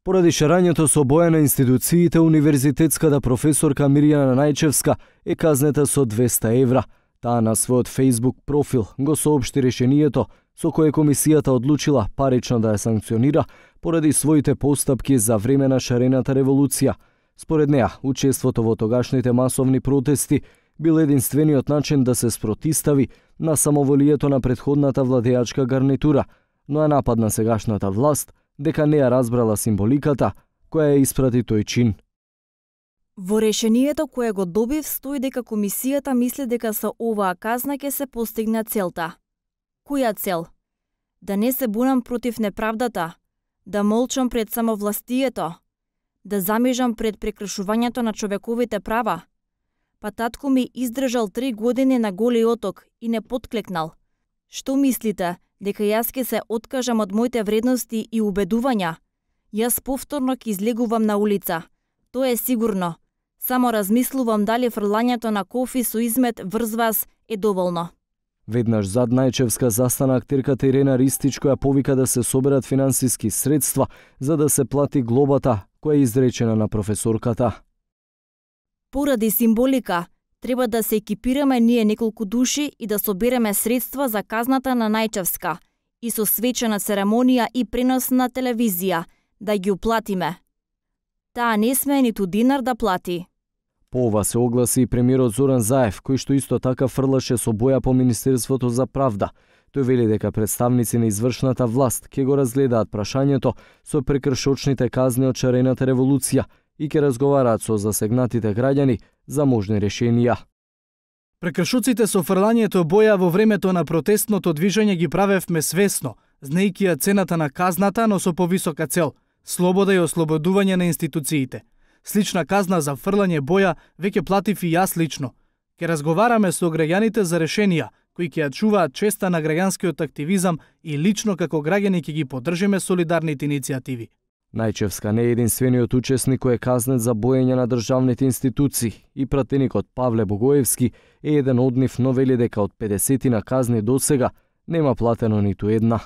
Поради шарањето со боја на институциите, универзитетската професорка Мирјана Најчевска е казнета со 200 евра. Таа на својот Facebook профил го соопшти решението со кое комисијата одлучила парично да ја санкционира поради своите постапки за време на шарената револуција. Според неа, учеството во тогашните масовни протести бил единствениот начин да се спротистави на самоволието на претходната владеачка гарнитура, но ја нападна сегашната власт дека не ја разбрала символиката која ја испрати тој чин. Во решението кое го добив стои дека комисијата мисли дека со оваа казна ќе се постигне целта. Која цел? Да не се бунам против неправдата, да молчам пред самовластието, да замижам пред прекршувањето на човековите права. Па татко ми издржал 3 години на Голи оток и не потклекнал. Што мислите, дека јас ќе се откажам од моите вредности и убедувања? Јас повторно ќе излегувам на улица. Тоа е сигурно. Само размислувам дали фрлањето на кофи со измет врз вас е доволно. Веднаш зад Најчевска застана актерката Ирена Ристич, која повика да се соберат финансиски средства за да се плати глобата која е изречена на професорката. Поради символика, треба да се екипираме ние неколку души и да собереме средства за казната на Најчевска и со свечена церемонија и пренос на телевизија, да ги уплатиме. Таа не смее ниту динар да плати. По ова се огласи и премиерот Зоран Заев, кој што исто така фрлаше со боја по Министерството за правда. Тој вели дека представници на извршната власт ќе го разгледаат прашањето со прекршочните казни од шарената револуција и ќе разговараат со засегнатите граѓани за можни решенија. Прекршоците со фрлањето боја во времето на протестното движење ги правевме свесно, знаејќи ја цената на казната, но со повисока цел – слобода и ослободување на институциите. Слична казна за фрлање боја веќе платив и јас лично. Ке разговараме со граѓаните за решенија кои ќе ја чуваат честа на граѓанскиот активизам и лично како граѓани ќе ги поддржиме солидарните иницијативи. Најчевска не е единствениот учесник кој е казнет за боење на државните институции и пратеникот Павле Богоевски е еден од нив, но вели дека од 50 на казни досега нема платено ниту една.